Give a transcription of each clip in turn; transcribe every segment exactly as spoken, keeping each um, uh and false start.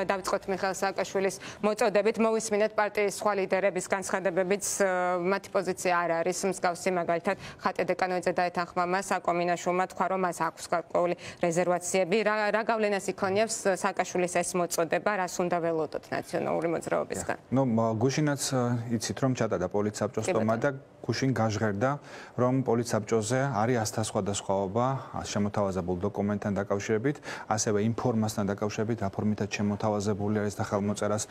დავიწყოთ მიხეილ სააკაშვილის მოწოდებით, მოვისმინეთ პარტიის სხვა ლიდერების განცხადებებიც, მათი პოზიცია არ არის მსგავსი, მაგალითად ხატე დეკანოიძე დაეთანხმა მას, აკომინაშვილმა თქვა, რომ მას აქვს გარკვეული რეზერვაციები. რა გავლენას იქონიებს სააკაშვილის ეს მოწოდება, რას უნდა ველოდოთ ნაციონალური მოძრაობისგან? ნუ გუშინაც იცით, რომ ჩატარდა პოლიცსაბჭოს ტომა და გუშინ გაჟღერდა, რომ პოლიცსაბჭოზე არის ასთა სხვადასხვაობა შემოთავაზებულ დოკუმენტთან დაკავშირებით, ასევე ინფორმასთან დაკავშირებით, რა ფორმითაც შემოთავაზებული არის და ხელმოწერას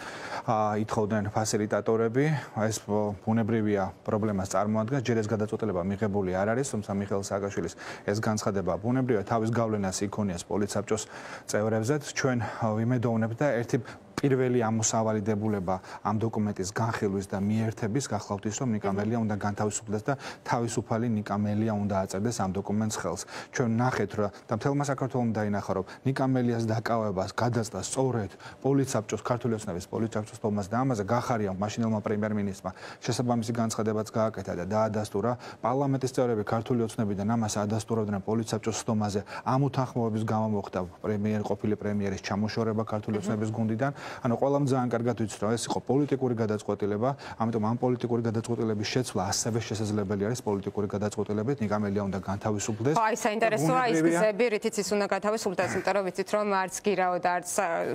ითხოვდნენ ფასილიტატორები. ეს ბუნებრივია პრობლემას წარმოადგენს, ჯერ ეს გადაწყვეტილება მიღებული არ არის, თუმცა მიხეილ სააკაშვილის ეს განცხადება ბუნებრივია თავის გავლენას იქონიას პოლიცსაბჭოს წევრებზე. ჩვენ ვიმედოვნებთ და ერთი პირველი ამოსავალი დებულება ამ დოკუმენტის განხილვის და მიერთების გახლავთ ის, რომ ნიკამელია უნდა განთავისუფლდეს და თავისუფალი ნიკამელია უნდა აწერდეს ამ დოკუმენტს ხელს. ჩვენ ნახეთ რა და მთელმა საქართველომ დაინახა, რომ ნიკამელიას დაკავებას გადაწდა სწორედ პოლიცსაბჭოს, ქართული ოცნების პოლიცსაბჭოს ტომას და ამაზე გახარია მაშინელმა პრემიერ-მინისტრმა შესაბამისი განცხადებაც გააკეთა და დაადასტურა. პარლამენტის წევრები ქართული ოცნებიდან ამას ადასტურავდნენ პოლიცსაბჭოს ტომაზე. ამ უთანხმოების გამო მოხდა პრემიერ ყოფილი პრემიერის ჩამოშორება ქართული ოცნების გუნდიდან. ანუ ყველამ ძალიან კარგად ვიცით, რომ ეს იყო პოლიტიკური გადაწყვეტილება, ამიტომ ამ პოლიტიკური გადაწყვეტილების შეცვლა ასევე შესაძლებელი არის პოლიტიკური გადაწყვეტილებით, ნიკამელია უნდა განთავისუფლდეს. ხო, აი საინტერესოა ის გზები, რითიც ის უნდა განთავისუფლდეს, იმიტომ რომ ვიცით, რომ არც გირაო და არც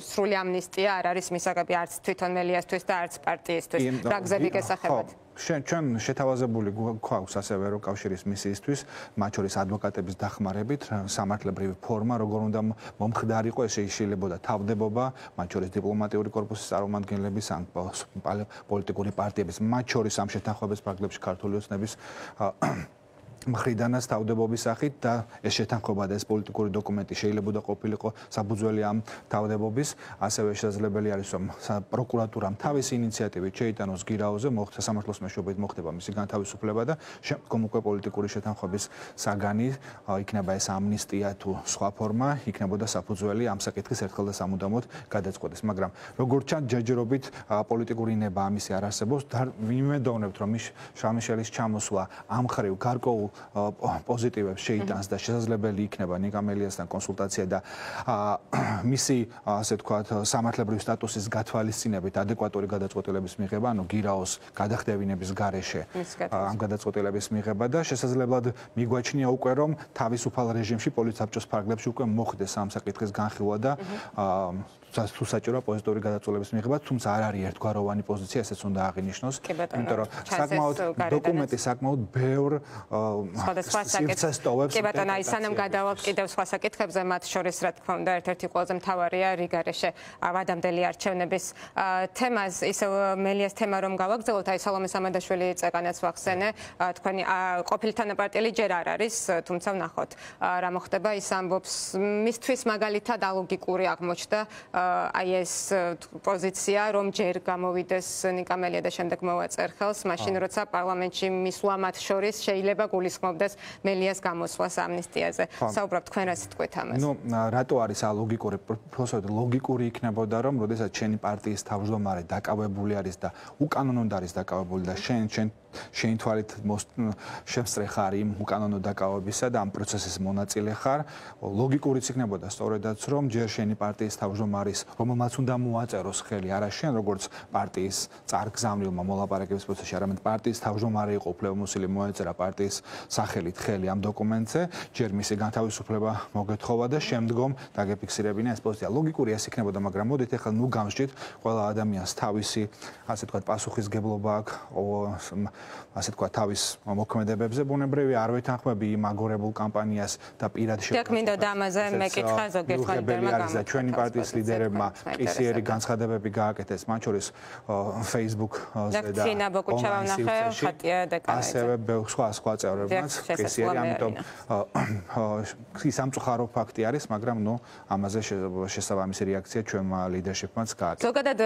სრული ამნისტია არ არის მისაღები არც თვითონ მელიასთვის და არც პარტიისთვის. რა გზები გესახებათ? ჩვენ შეთავაზებული გვაქვს ასევე ევროკავშირის მისიისთვის, მათ შორის ადვოკატების დახმარებით, სამართლებრივი ფორმა, როგორ უნდა მომხდარიყო, ეს შეიძლება თავდებობა, მათ შორის დიპლომატიური კორპუსის წარმომადგენლების ან პოლიტიკური პარტიების, მათ შორის ამ შეთანხმების ფარგლებში ქართული ოცნების მხრიდანაც თავდებობის სახით და ეს შეთანხმება და ეს პოლიტიკური დოკუმენტი შეიძლება ყოფილიყო საფუძველი ამ თავდებობის, ასევე შესაძლებელი არის რომ პროკურატურამ თავისი ინიციატივით შეიტანოს გირაოზე, მოხდა სამართლოს მეშვეობით მოხდება მისი განთავისუფლება და შემდგომ უკვე პოლიტიკური შეთანხმების საგანი იქნება ეს ამნისტია თუ სხვა ფორმა, იქნებოდა საფუძველი ამ საკითხის ერთხელ და სამუდამოდ გადაწყვეტის, მაგრამ როგორც ჩანს ჯერჯერობით პოლიტიკური ნება ამისი არ არსებობს და ვიმედოვნებთ რომ შამიშელის ჩამოსვლა ამ ხრივ გარკვეულ პოზიტივებს შეიტანს და შესაძლებელი იქნება ნიკამელიასთან კონსულტაცია და მისი ასე ვთქვათ სამართლებრივი სტატუსის გათვალისწინებით ადეკვატური გადაწყვეტილების მიღება, ანუ გირაოს გადახდევინების გარეშე ამ გადაწყვეტილების მიღება და შესაძლებლად მიგვაჩნია უკვე რომ თავისუფალ რეჟიმში პოლიცსაბჭოს ფარგლებში უკვე მოხდეს ამ საკითხის განხილვა და თუ საჭიროა პოზიტიური გადაწყვეტილების მიღება, თუმცა არ არის ერთგვაროვანი პოზიცია, ესეც უნდა აღინიშნოს, იმიტომ რომ საკმაოდ დოკუმენტი საკმაოდ ბევრ სხვადასხვა საკითხებს ტოვებს. კი ბატონო, აი სანამ გადავალთ კიდევ სხვა საკითხებზე, მათ შორის რა თქმა უნდა ერთ-ერთი ყველაზე მთავარია რიგარეშე ავადამდელი არჩევნების თემას, ისევ მელიას თემა რომ გავაგრძელოთ, აი სალომე სამადაშვილი წეგანაც ვახსენე, თქვენი ყოფილი თანაპარტიელი ჯერ არ არის, თუმცა ვნახოთ რა მოხდება, ის ამბობს მისთვის მაგალითად ალოგიკური აღმოჩნდა აი ეს პოზიცია, რომ ჯერ გამოვიდეს ნიკამელია და შემდეგ მოვაწერ ხელს, მაშინ როცა პარლამენტში მისვლა მათ შორის შეიძლება გულისხმობდეს მელიას გამოსვლას ამნისტიაზე. საუბრობ თქვენ რა სიტყვით ამაზე? ნუ რატო არის ალოგიკური? პროფესორ ლოგიკური იქნებოდა რომ როდესაც შენი პარტიის თავმჯდომარე დაკავებული არის და უკანონოდ არის დაკავებული და შენ შენ შენ თვალით შემსწრე ხარ იმ უკანონო დაკავებისა და ამ პროცესის მონაწილე ხარ, ლოგიკურიც იქნებოდა სწორედაც რომ ჯერ შენი პარტიის თავმჯდომარის, რომელმაც უნდა მოაწეროს ხელი, არა შენ როგორც პარტიის წარგზავნილმა მოლაპარაკების პროცესში, არამედ პარტიის თავმჯდომარე იყო უფლებამოსილი მოეწერა პარტიის სახელით ხელი ამ დოკუმენტზე, ჯერ მისი განთავისუფლება მოგეთხოვა და შემდგომ დაგეფიქსირებინა ეს პოზიცია. ლოგიკური ეს იქნებოდა, მაგრამ მოდით ახლა ნუ გამსჭით, ყველა ადამიანს თავისი, ასე ვთქვათ, პასუხისგებლობა აქვს, ასე ვთქვათ, თავის მოქმედებებზე, ბუნებრივია არ ვეთანხმები იმ აგორებულ კამპანიას და პირად შეგვიძლია. და მინდოდა ამაზე მეკითხა ზოგიერთ ლიდერმა გამო. ჩვენი პარტიის ლიდერებმა კისიერი განცხადებები გააკეთეს, მათ შორის Facebook-ზე და ცინა ბოკუჩავა ვნახე, ხატია დეკანოიძე. ასევე სხვა სხვა წევრებმაც კისიერი, ამიტომ ის სამწუხარო ფაქტი არის, მაგრამ ნუ ამაზე შესაბამისი რეაქცია ჩვენმა ლიდერშიპმაც გააკეთა. ზოგადად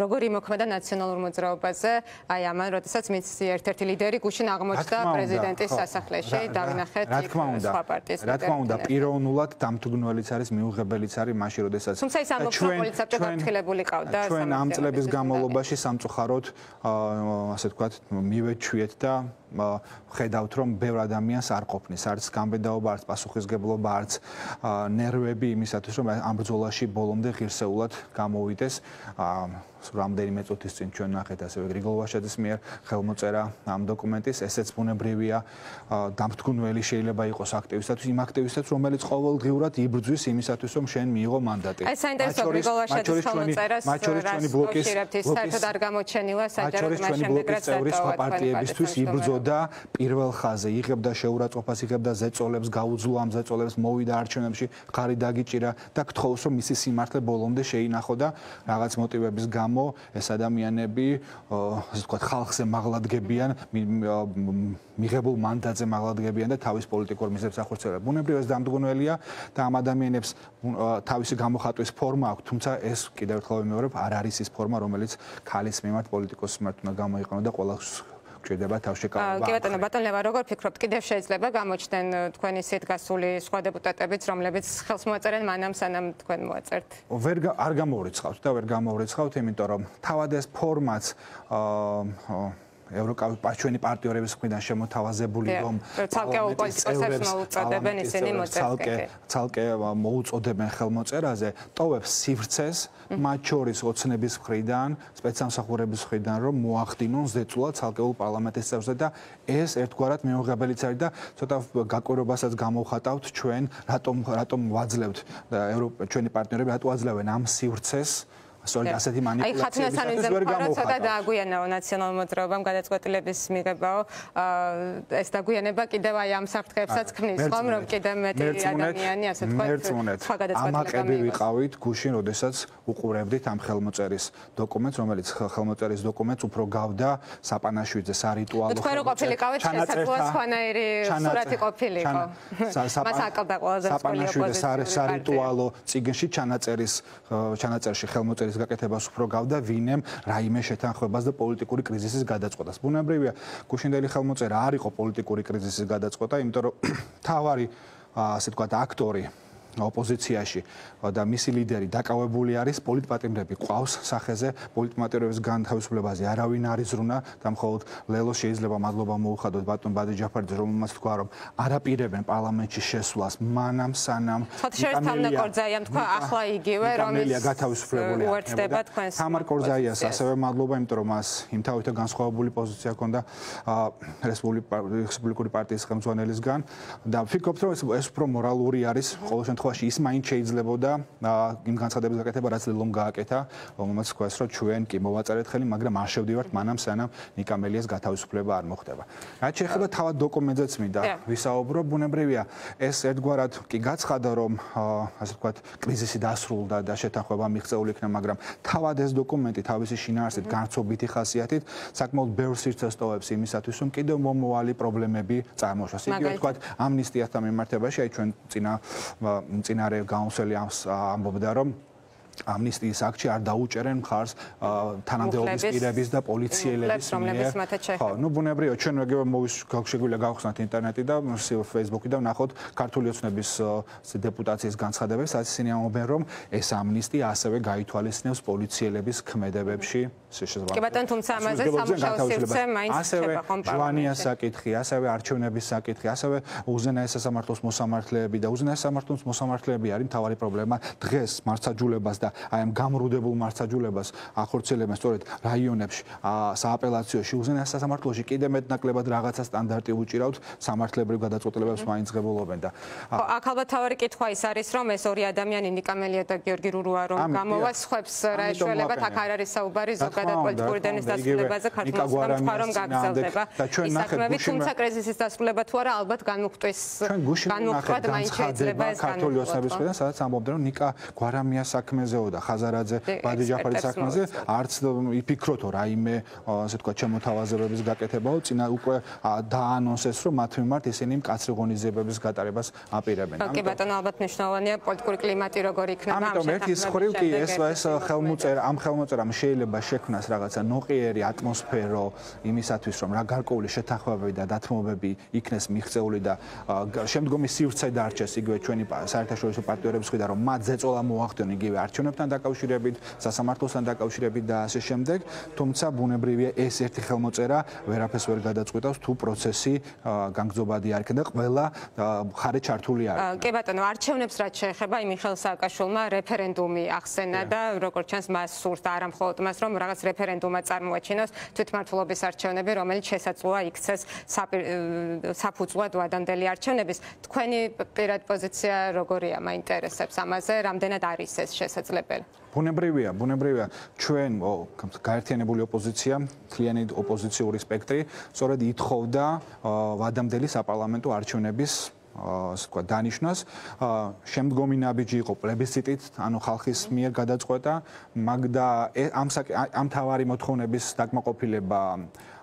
როგორი მოქმედა ნაციონალურ მოძრაობაზე, აი ამან როდესაც მის ერთ-ერთი ლიდერი გუშინ აღმოჩნდა პრეზიდენტის სასახლეში, დავინახეთ სხვა პარტიის ლიდერები. რა თქმა უნდა, პიროვნულად დამთუგნველიც არის, მიუღებელიც არის მაშინ, როდესაც თუმცა ის ამბობს, რომ პოლიცსაბჭო გაფრთხილებული ყავდა. ჩვენ ამ წლების განმავლობაში სამწუხაროდ, ასე ვთქვათ, მივეჩვიეთ და ხედავთ რომ ბევრ ადამიანს არ ყოფნის, არც გამბედაობა, არც პასუხისგებლობა, არც ნერვები იმისათვის რომ ამ ბრძოლაში ბოლომდე ღირსეულად გამოვიდეს. რამდენიმე წუთის წინ ჩვენ ნახეთ ასევე გრიგოლ ვაშაძის მიერ ხელმოწერა ამ დოკუმენტის, ესეც ბუნებრივია, დამთქმელი შეიძლება იყოს აქტივისტად, იმ აქტივისტად, რომელიც ყოველდღიურად იბრძვის იმისათვის, რომ შენ მიიღო მანდატი. აი საინტერესო გრიგოლ ვაშაძის ხელმოწერას ჩვენი ბლოკის საერთოდ არ გამოჩენილა საჯარო მას შემდეგ რაც სხვა პარტიებისთვის იბრძოდა პირველ ხაზზე, იღებდა შეურაცხყოფას, იღებდა ზეწოლებს, გაუძლო ამ ზეწოლებს, მოვიდა არჩევნებში, ხარი დაგიჭირა და გთხოვს რომ მისი სიმართლე ბოლომდე შეინახო და რაღაც მოტივების გამო ეს ადამიანები, ასე ვთქვათ, ხალხზე მაღლადგებიან, მიღებულ მანდატზე მაღლადგებიან და თავის პოლიტიკურ მიზნებს ახორციელებენ. ბუნებრივია ეს დამდგუნველია და ამ ადამიანებს თავისი გამოხატვის ფორმა აქვს, თუმცა ეს კიდევ ერთხელ ვიმეორებ, არ არის ის ფორმა, რომელიც ქალის მიმართ პოლიტიკოს მიმართ უნდა გამოიყენო და ყველას გვჭირდება თავშეკავება. კი ბატონო, ბატონ ლევა, როგორ ფიქრობთ, კიდევ შეიძლება გამოჩნდნენ თქვენი ისეთ გასული სხვა დეპუტატებიც, რომლებიც ხელს მოაწერენ მანამ სანამ თქვენ მოაწერთ? ვერ არ გამოვრიცხავთ და ვერ გამოვრიცხავთ, იმიტომ რომ თავად ეს ფორმაც ევროკავშირის პარტნიორების მხრიდან შემოთავაზებული რომ ცალკეულ პოლიტიკოსებს მოუწოდებენ ისინი მოწერას. ცალკე მოუწოდებენ ხელმოწერაზე, ტოვებს სივრცეს, მათ შორის ოცნების მხრიდან, სპეცსამსახურების მხრიდან რომ მოახდინონ ზეწოლა ცალკეულ პარლამენტის წევრზე და ეს ერთგვარად მიუღებელიც არის და ცოტა გაკვირვებასაც გამოვხატავთ ჩვენ, რატომ რატომ ვაძლევთ ჩვენი პარტნიორები რატო აძლევენ ამ სივრცეს სწორედ ასეთი მანიპულაციებისათვის ვერ გამოვხატავთ. ცოტა დააგვიანაო ნაციონალურ მოძრაობამ გადაწყვეტილების მიღებაო, ეს დაგვიანება კიდევ აი ამ საფრთხეებსაც ქმნის, ხომ, რომ კიდევ მეტი ადამიანი, ასე ვთქვათ, სხვა გადაწყვეტილება ამაყები ვიყავით გუშინ, როდესაც უყურებდით ამ ხელმოწერის დოკუმენტს, რომელიც ხელმოწერის დოკუმენტს უფრო გავდა საპანაშვიძე სარიტუალო. თქვენ რო ყოფილიყავით, შესაძლოა სხვანაირი სურათი ყოფილიყო. მას აკლდა ყველაზე მსხვილი ოპოზიციური სარიტუალო წიგნში ჩანაწერის ჩანაწერში ხელმოწერის გაკეთებას უფრო გავდა ვინემ რაიმე შეთანხმებას და პოლიტიკური კრიზისის გადაწყვეტას. ბუნებრივია, გუშინდელი ხელმოწერა არ იყო პოლიტიკური კრიზისის გადაწყვეტა, იმიტომ რომ თავარი, ასე ვთქვათ, აქტორი ოპოზიციაში და მისი ლიდერი დაკავებული არის პოლიტპატიმრები ყავს სახეზე პოლიტპატიმრების განთავისუფლებაზე არავინ არ იზრუნა და მხოლოდ ლელო შეიძლება მადლობა მოუხადოთ ბატონ ბადე ჯაფარიძე რომელმაც თქვა რომ არაპირებენ პარლამენტში შესვლას მანამ სანამ თამარ კორძაიამ თქვა ახლა იგივე რომელიც გათავისუფლებული უერთდება თქვენს თამარ კორძაიას ასევე მადლობა იმიტომ რომ მას იმთავითო განსხვავებული პოზიცია ჰქონდა რესპუბლიკური პარტიის ხელმძღვანელისგან და ვფიქრობთ რომ ეს უფრო მორალური არის ყოველ შემთხვევაში ის მაინც შეიძლებოდა იმ განცხადების გაკეთება რაც ლელომ გააკეთა რომელმაც თქვას რომ ჩვენ კი მოვაწერეთ ხელი მაგრამ არ შევდივართ მანამ სანამ ნიკა მელიას გათავისუფლება არ მოხდება რაც შეეხება თავად დოკუმენტზეც მინდა ვისაუბრო ბუნებრივია ეს ერთგვარად კი გაცხადა რომ ასე ვთქვათ კრიზისი დასრულდა და შეთანხმება მიღწეული იქნა მაგრამ თავად ეს დოკუმენტი თავისი შინაარსით განცობითი ხასიათით საკმაოდ ბევრ სივრცეს ტოვებს იმისათვის რომ კიდევ მომავალი პრობლემები წარმოშოს იგივე ვთქვათ ამნისტიასთან მიმართებაში აი ჩვენ წინა წინარე გაუნსელი ამბობდა რომ ამნისტიის აქტში არ დაუჭერენ მხარს თანამდებობის პირების და პოლიციელების მიერ. ხო, ну ბუნებრივია ჩვენ ეგრევე მოვიშგვიძლია გავხსნათ ინტერნეტი და Facebook-ი და ვნახოთ ქართული ოცნების დეპუტაციის განცხადებებს, სადაც ისინი ამბობენ რომ ეს ამნისტია ასევე გაითვალისწინებს პოლიციელების ქმედებებში შესაძლებლად. კი ბატონო, თუმცა ამაზე სამუშაო სივრცე მაინც ხდება ხომ პარლამენტში. ჟვანიას საკითხი, ასევე არჩევნების საკითხი, ასევე უზენაეს სასამართლოს მოსამართლეები და უზენაეს სასამართლოს მოსამართლეები არის მთავარი პრობლემა დღეს მარცხაჯულებას და აი ამ გამრუდებულ მარცხაჯულებას ახორციელებენ სწორედ რაიონებში სააპელაციოში უზენაეს სასამართლოში კიდე მეტნაკლებად რაღაცა სტანდარტი უჭირავთ სამართლებრივ გადაწყვეტილებებს მაინც ღებულობენ და აქ ალბათ თავი კითხვა ის არის რომ ეს ორი ადამიანი ნიკა მელია და გიორგი რურუა რომ გამოვა სხვებს რა ეშველებათ აქ არ არის საუბარი ზოგადად პოლიტიკური დენის დასრულებაზე ქართულ სხვა რომ გაგრძელდება ის საქმეები თუმცა კრიზისის დასრულება თუ არა ალბათ განმუხტვის განმუხტვად მაინც შეიძლება ეს ქართული ოცნების მხრიდან სადაც ამბობდნენ რომ ნიკა გვარამიას საქმეზე და ხაზარაძე ბადე ჯაფარის საქმეზე არც იფიქროთო რაიმე ასე ვთქვათ შემოთავაზებების გაკეთებაო წინა უკვე დაანონსეს რომ მათ მიმართ ისინი მკაცრი ღონისძიებების გატარებას აპირებენ. კი ბატონო ალბათ მნიშვნელოვანია პოლიტიკური კლიმატი როგორ იქნება ამ ამიტომ ერთის ხრივ კი ეს ეს ხელმოწერა ამ ხელმოწერამ შეიძლება შექმნას რაღაცა ნოყიერი ატმოსფერო იმისათვის რომ რა გარკვეული შეთანხმებები და დათმობები იქნეს მიღწეული და შემდგომი სივრცე დარჩეს იგივე ჩვენი საერთაშორისო პარტნიორების მხრიდან რომ მათ ზეწოლა მოახდინონ იგივე არჩევნებში არჩევნებთან დაკავშირებით, სასამართლოსთან დაკავშირებით და ასე შემდეგ, თუმცა ბუნებრივია ეს ერთი ხელმოწერა ვერაფერს ვერ გადაწყვეტავს თუ პროცესი განგრძობადი არ იქნება და ყველა მხარე ჩართული არის. კი ბატონო, არჩევნებს რაც შეეხება მიხეილ სააკაშვილმა რეფერენდუმი ახსენა და როგორც ჩანს მას სურს და არა მხოლოდ მას რომ რაღაც რეფერენდუმად წარმოაჩინოს თვითმმართველობის არჩევნები, რომელიც შესაძლოა იქცეს საფუძვლად ვადამდელი არჩევნების. თქვენი პირად პოზიცია როგორია, მაინტერესებს ამაზე, რამდენად არის ეს შესაძლებელი? ბუნებრივია, ბუნებრივია, ჩვენ გაერთიანებული ოპოზიცია, მთლიანი ოპოზიციური სპექტრი, სწორედ ითხოვდა ვადამდელი საპარლამენტო არჩევნების ასე ვთქვათ, დანიშნოს. შემდგომი ნაბიჯი იყო პლებისციტით, ანუ ხალხის მიერ გადაწყვეტა, მაგრამ ამ ამ თავარი მოთხოვნების დაკმაყოფილება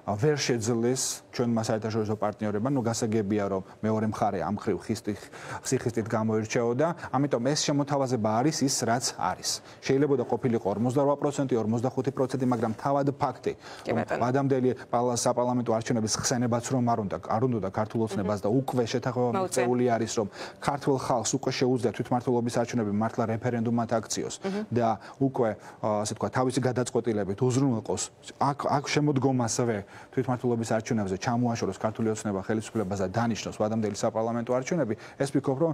ვერ შეძლეს ჩვენმა საერთაშორისო პარტნიორებმა, ნუ გასაგებია რომ მეორე მხარე ამ ხრივ სიხისტით გამოირჩეოდა, ამიტომ ეს შემოთავაზება არის ის, რაც არის. შეიძლება ყოფილიყო ორმოცდარვა პროცენტი, ორმოცდახუთი პროცენტი, მაგრამ თავად ფაქტი, ვადამდელი საპარლამენტო არჩევნების ხსენებაც რომ არ უნდა, არ უნდა ქართულ ოცნებას და უკვე შეთანხმება მიღწეული არის, რომ ქართულ ხალხს უკვე შეუძლია თვითმმართველობის არჩევნები მართლა რეფერენდუმად აქციოს და უკვე ასე ვთქვათ, თავისი გადაწყვეტილებით უზრუნველყოს აქ აქ შემოდგომასვე თვითმმართველობის არჩევნებზე ჩამოაშოროს ქართული ოცნება ხელისუფლებას და დანიშნოს ვადამდელი საპარლამენტო არჩევნები, ეს ვფიქრობ, რომ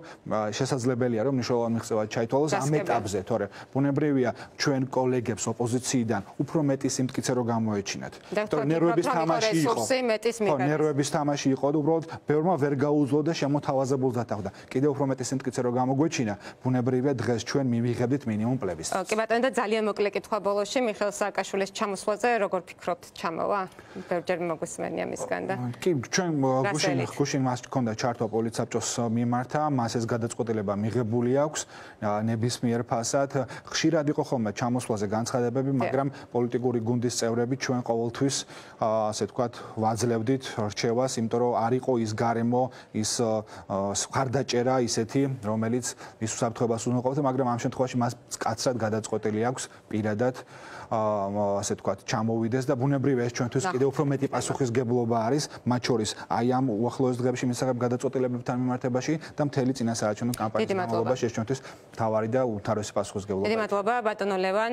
შესაძლებელია, რომ მნიშვნელოვანი მიღწევა ჩაითვალოს ამ ეტაპზე, თორე ბუნებრივია ჩვენ კოლეგებს ოპოზიციიდან უფრო მეტი სიმტკიცე რო გამოეჩინათ. თორე ნერვების თამაში იყო. ხო, ნერვების თამაში იყო და უბრალოდ ბევრმა ვერ გაუძლო და შემოთავაზებულს დათანხმდა. კიდევ უფრო მეტი სიმტკიცე რო გამოგვეჩინა, ბუნებრივია დღეს ჩვენ მივიღებდით მინიმუმ პლებისციტს. კი ბატონო, და ძალიან მოკლე კითხვა ბოლოში, მიხეილ სააკაშვილის ჩამოსვლაზე როგორ ფიქრობთ, ჩამოვა? ბევრჯერ მოგვისმენია მისგან და კი, ჩვენ გუშინ გუშინ მას ჰქონდა ჩართვა პოლიცსაბჭოს მიმართა, მას ეს გადაწყვეტილება მიღებული აქვს ნებისმიერ ფასად. ხშირად იყო ხოლმე ჩამოსვლაზე განცხადებები, მაგრამ პოლიტიკური გუნდის წევრები ჩვენ ყოველთვის ასე ვთქვათ, ვაძლევდით რჩევას, იმიტომ რომ არ იყო ის გარემო, ის ხარდაჭერა ისეთი, რომელიც ის უსაფრთხოებას უზრუნველყოფდა, მაგრამ ამ შემთხვევაში მას კაცრად გადაწყვეტილი აქვს პირადად ასე ვთქვათ, ჩამოვიდეს და ბუნებრივია ეს ჩვენთვის კიდევ უფრო მეტი პასუხისგებლობა არის, მათ შორის აი ამ უახლოეს დღეებში მისაღებ გადაწყვეტილებებთან მიმართებაში და მთელი წინასაარჩევნო კამპანიის განმავლობაში ეს ჩვენთვის მთავარი და უმთავრესი პასუხისგებლობაა. დიდი მადლობა, ბატონო ლევან.